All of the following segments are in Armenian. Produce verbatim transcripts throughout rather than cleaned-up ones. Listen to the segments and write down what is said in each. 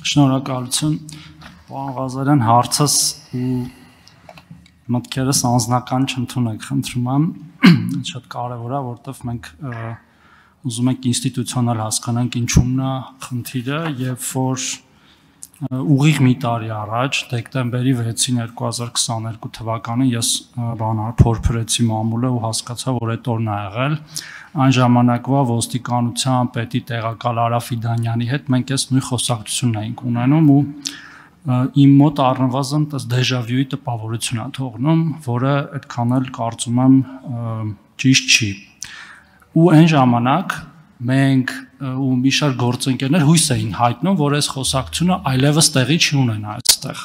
Շնորհակալություն, պարոն Ղազարյան, հարցս ու մտքերս անձնական չընդունեք, խնդրում եմ, շատ կարևոր է, որովհետև մենք ուզում ենք ինստիտուցիոնալ հասկանանք ինչումն է խնդիրը, երբ որ ուղիղ մի տարի առաջ, դեկտեմբերի վեցին երկու հազար քսաներկու թվականին ես բանար փորփրեցի մամուլը ու հասկացա, որ այդ օրն է եղել։ Այն ժամանակվա ոստիկանության պետի տեղակալ Արա Ֆիդանյանի հետ մենք այս նույն խոսակցությունն էինք ունենում ու իմ մոտ առնվազն այս դեժավյուի տպավորություն է թողնում, որը այդքան էլ կարծում եմ ճիշտ չի։ Ու այն ժամանակ մենք ու մի շարք գործընկերներ հույս էին հայտնում, որ այս խոսակցությունը այլևս տեղի չի ունենա այստեղ,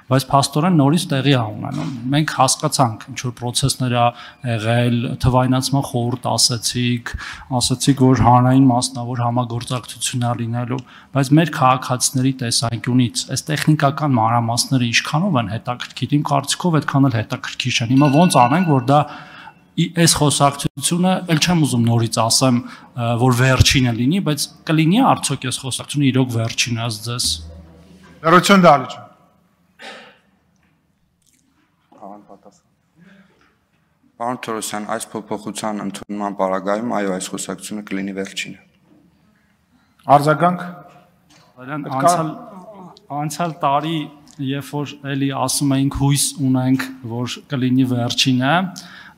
բայց փաստորեն նորից տեղի է ունենում։ Մենք հասկացանք, ինչ որ process-ներ ա եղել, թվայնացման խորհուրդ ասացիք, ասացիք, որ հանրային մասնավոր համագործակցություն ա լինելու, բայց մեր քաղաքացիների տեսանկյունից այս տեխնիկական մանրամասները ինչքանով են հետաքրքիր, իմ կարծիքով այդքան էլ հետաքրքիր չեն։ Հիմա ոնց անենք, որ դա այս խոսակցությունը, ել չեմ ուզում նորից ասեմ, որ վերջինը լինի, բայց կլինի արդյոք այս խոսակցությունը իրոք վերջինը ըստ ձեզ։ Լրություն Դալիճան։ Պարոն Թորոսյան, այս փոփոխության ընդունման պարագայում, այո, այս խոսակցությունը կլինի վերջինը։ Արձագանք։ Անցյալ անցյալ տարի, երբ որ էլի ասում էինք հույս ունենք, որ կլինի վերջինը,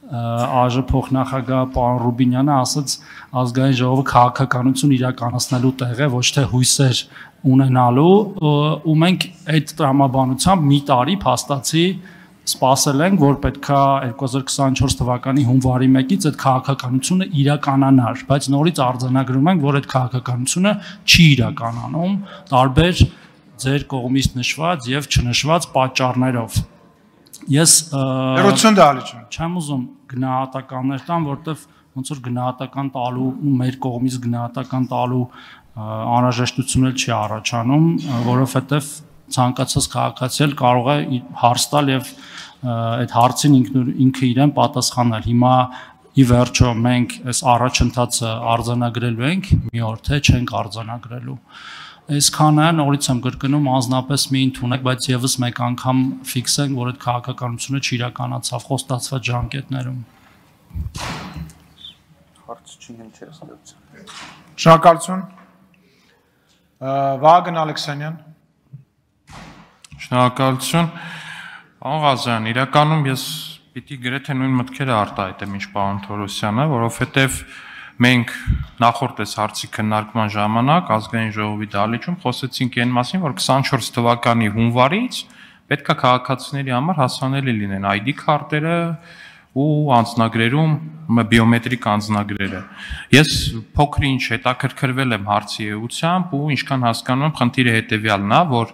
ԱԺ փոխնախագահ պարոն Ռուբինյանը ասաց ազգային ժողովը քաղաքականություն իրականացնելու տեղ է, ոչ թե հույսեր ունենալու, ու մենք այդ տրամաբանությամբ մի տարի փաստացի սպասել ենք, որ պետքա երկու հազար քսաներկու թվականի հունվարի մեկից այդ քաղաքականությունը իրականանար, բայց նորից արձանագրում ենք, որ այդ քաղաքականությունը չի իրականանում, տարբեր ձեր կողմից նշված եւ չնշված պատճառներով։ Ես Լրություն Դալիճան։ Չեմ ուզում գնահատականներ տամ, որովհետև ոնց որ գնահատական տալու ու մեր կողմից գնահատական տալու անհրաժեշտություն էլ չի առաջանում, որովհետև ցանկացած քաղաքացի էլ կարող է հարց տալ եւ այդ հարցին ինքը իրեն պատասխանել։ Հիմա ի վերջո մենք այս առաջընթացը արձանագրելու ենք, մի օր թե չենք արձանագրելու։ Այսքանը նորից եմ կրկնում անձնապես մի ընդունեք, բայց եւս մեկ անգամ ֆիքսենք, որ այդ քաղաքականությունը չիրականացավ խոստացված ժամկետներում։ Հարց չունեմ չէ ստեղծել։ Շնորհակալություն։ Վահագն Ալեքսանյան։ Շնորհակալություն։ Պարոն Ղազարյան, իրականում ես պիտի գրեթե նույն մտքերը արտահայտեմ, ինչ պարոն Թորոսյանը, որովհետև մենք նախորդ այս հարցի քննարկման ժամանակ ազգային ժողովի դահլիճում խոսեցինք այն մասին, որ քսաներկու թվականի հունվարից պետք է քաղաքացիների համար հասանելի լինեն այ դի քարտերը ու անձնագրերում բիոմետրիկ անձնագրերը։ Ես փոքր-ինչ հետաքրքրվել եմ հարցի էությամբ ու ինչքան հասկանում եմ, խնդիրը հետևյալն է, որ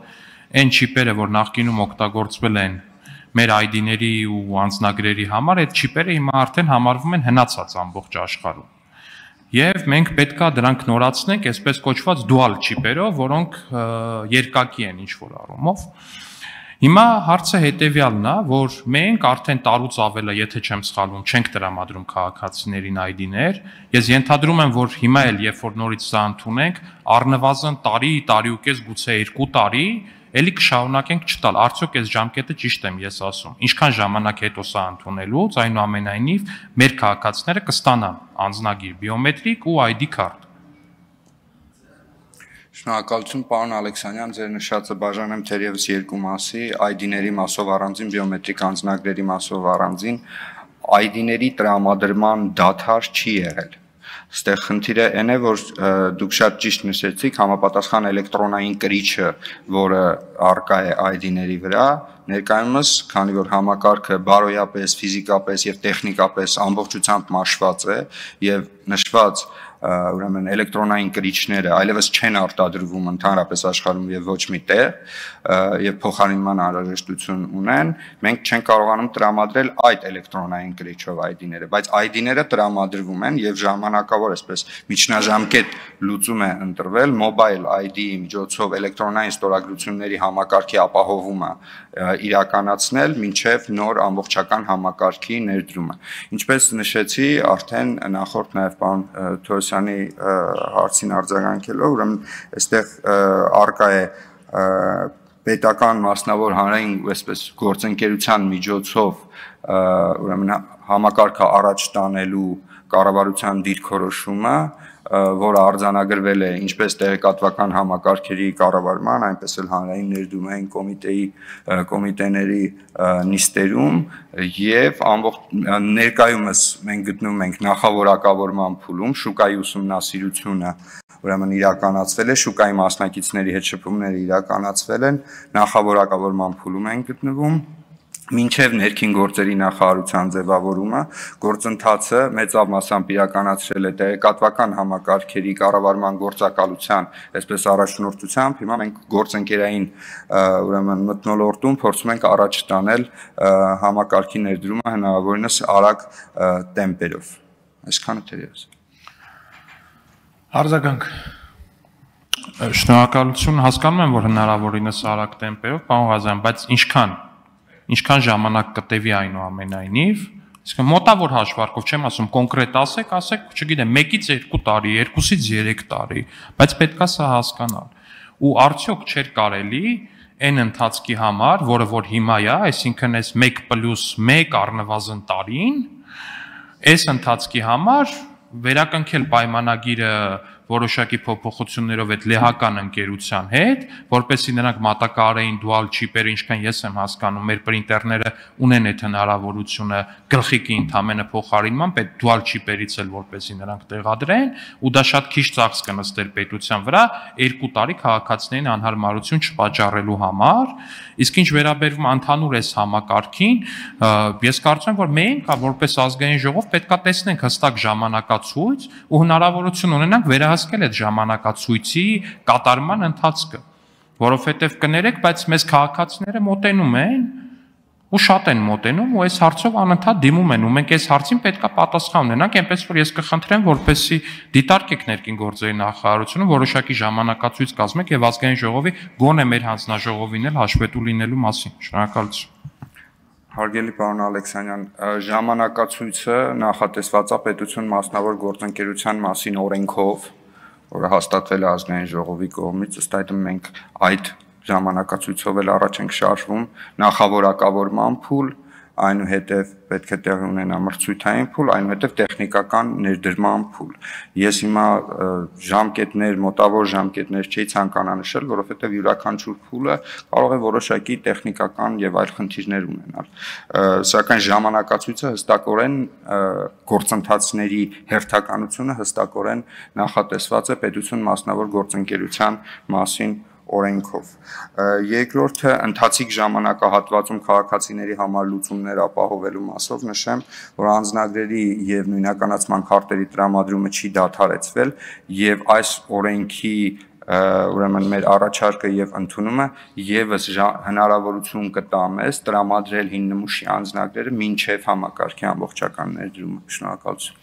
այն չիպերը, որ նախկինում օգտագործվել են մեր այ դիների ու անձնագրերի համար, այդ չիպերը հիմա արդեն համարվում են հնացած ամբողջ աշխարհում։ Եվ մենք պետքա դրանք նորացնենք այսպես կոչված dual չիպերով, որոնք երկակի են ինչ-որ առումով։ Հիմա հարցը հետևյալն է, որ մենք արդեն տարուց ավել է, եթե չեմ սխալվում, չենք տրամադրում քաղաքացիներին այ դիներ։ Ես ենթադրում եմ, որ հիմա էլ երբ որ նորից սա ընդունենք, առնվազն տարի, տարի ու կես, գուցե երկու տարի էլի կշարունակենք չտալ, արդյոք այս ժամկետը ճիշտ եմ ես ասում, ինչքան ժամանակ հետո սա ընդունելուց, այնուամենայնիվ մեր քաղաքացիները կստանան անձնագիր բիոմետրիկ ու այ դի քարտ։ Շնորհակալություն պարոն Ալեքսանյան, ձեր նշածը բաժանեմ թերևս երկու մասի, այ դիների մասով առանձին, բիոմետրիկ անձնագրերի մասով առանձին, այ դիների տրամադրման դադար չի եղել։ Ստեղ խնդիրը այն է, որ դուք շատ ճիշտ նշեցիք, համապատասխան էլեկտրոնային կրիչը, որը առկա է այ դիների վրա, ներկայումս, քանի որ համակարգը բարոյապես, ֆիզիկապես եւ տեխնիկապես ամբողջությամբ մաշված է եւ նշված ուրեմն էլեկտրոնային կրիչները այլևս չեն արտադրվում ընդհանրապես աշխարհում եւ ոչ մի տեղ եւ փոխարինման անհրաժեշտություն ունեն, մենք չենք կարողանում տրամադրել այդ էլեկտրոնային կրիչով այ դիները, բայց այ դիները տրամադրվում են եւ ժամանակավոր այսպես միջնաժամկետ լուծում է ընտրվել մոբայլ այ դի-ի միջոցով էլեկտրոնային ստորագրությունների համակարգի ապահովումը իրականացնել մինչև նոր ամբողջական համակարգի ներդրումը։ Ինչպես նշեցի, արդեն նախորդ նաեւ պարոն Թորոսյանի հարցին արձագանքելով, ուրեմն այստեղ առկա է պետական մասնավոր հանրային այսպես գործընկերության միջոցով ուրեմն համակարգը առաջ տանելու կառավարության դիրքորոշումը, որը արձանագրվել է ինչպես տեղեկատվական համակարգերի կառավարման, այնպես էլ հանրային ներդրումային կոմիտեի կոմիտեների նիստերում եւ ամբողջ ներկայումս մենք գտնվում ենք նախավորակավորման փուլում, շուկայի ուսումնասիրությունը ուրեմն իրականացվել է, շուկայի մասնակիցների հետ շփումները իրականացվել են, նախավորակավորման փուլում ենք գտնվում, մինչև ներքին գործերի նախարարության ձևավորումը գործընթացը մեծավ մասամբ իրականացրել է տեղեկատվական համակարգերի կառավարման գործակալության, այսպես առաջնորդությամբ, հիմա մենք գործընկերային ուրեմն մթնոլորտում փորձում ենք առաջ տանել համակարգի ներդրումը հնարավորինս արագ տեմպերով։ Այսքանը թերևս։ Արձագանք։ Շնորհակալություն, հասկանում եմ, որ հնարավորինս արագ տեմպերով, պարոն Ղազարյան, բայց ինչքան ինչքան ժամանակ կտևի այնուամենայնիվ, իսկ մոտավոր հաշվարկով չեմ ասում կոնկրետ ասեք, ասեք, չգիտեմ, մեկից երկու տարի, երկուսից երեք տարի, բայց պետքա սա հասկանալ։ Ու արդյոք չէր կարելի այն ընթացքի համար, որը որ հիմա է, այսինքն այս մեկ պլյուս մեկ առնվազն տարին, այս ընթացքի համար վերակնքել պայմանագիրը որոշակի փոփոխություններով այդ լեհական ընկերության հետ, որպեսզի նրանք մատակարարեին dual chip-երը, ինչքան ես եմ հասկանում, մեր պրինտերները ունեն այդ հնարավորությունը գլխիկի ընդամենը փոխարինման, պետք dual chip-երից էլ որպեսզի նրանք տեղադրեն, ու դա շատ քիչ ծախս կնստեր պետության վրա, երկու տարի քաղաքացիներին անհարմարություն չպատճառելու համար, իսկ ինչ վերաբերվում ընդհանուր այս համակարգին, ես կարծում եմ, որ մենք, որպես ազգային ժողով, պետքա տեսնենք հստակ ժամանակացույց ու հնարավորություն ունենանք վերահսկել հասկել այդ ժամանակացույցի կատարման ընթացքը, որովհետև կներեք, բայց մեզ քաղաքացիները մոտենում են ու շատ են մոտենում ու այս հարցով անընդհատ դիմում են ու մենք այս հարցին պետքա պատասխան ունենանք, այնպես որ ես կխնդրեմ, որպեսզի դիտարկեք ներքին գործերի նախարարությունը, որոշակի ժամանակացույց կազմեք եւ ազգային ժողովի գոնե մեր հանձնաժողովին էլ հաշվետու լինելու մասին։ Շնորհակալություն։ Հարգելի պարոն Ալեքսանյան, ժամանակացույցը նախատեսված է պետություն մասնավոր գործընկերության մասին օրենքով, որը հաստատվել է ազգային ժողովի կողմից, ըստ այդմ մենք այդ ժամանակացույցով էլ առաջ ենք շարժվում, նախավորակավորման փուլ, այնուհետև պետք է տեղի ունենա մրցույթային փուլ, այնուհետև տեխնիկական ներդրման փուլ։ Ես հիմա ժամկետներ, մոտավոր ժամկետներ չի ցանկանա նշել, որովհետև յուրաքանչյուր փուլը կարող է որոշակի տեխնիկական եւ այլ խնդիրներ ունենալ։ Սակայն ժամանակացույցը հստակորեն գործընթացների հերթականությունը հստակորեն նախատեսված է պետություն մասնավոր գործընկերության մասին օրենքով։ Երկրորդը ընթացիկ ժամանակահատվածում քաղաքացիների համար լուծումներ ապահովելու մասով նշեմ, որ անձնագրերի եւ նույնականացման քարտերի տրամադրումը չի դադարեցվել եւ այս օրենքի ուրեմն մեր առաջարկը եւ ընդունումը եւս հնարավորություն կտա մեզ տրամադրել հին նմուշի անձնագրերը մինչեւ համակարգի ամբողջական ներդրումը։ Շնորհակալություն։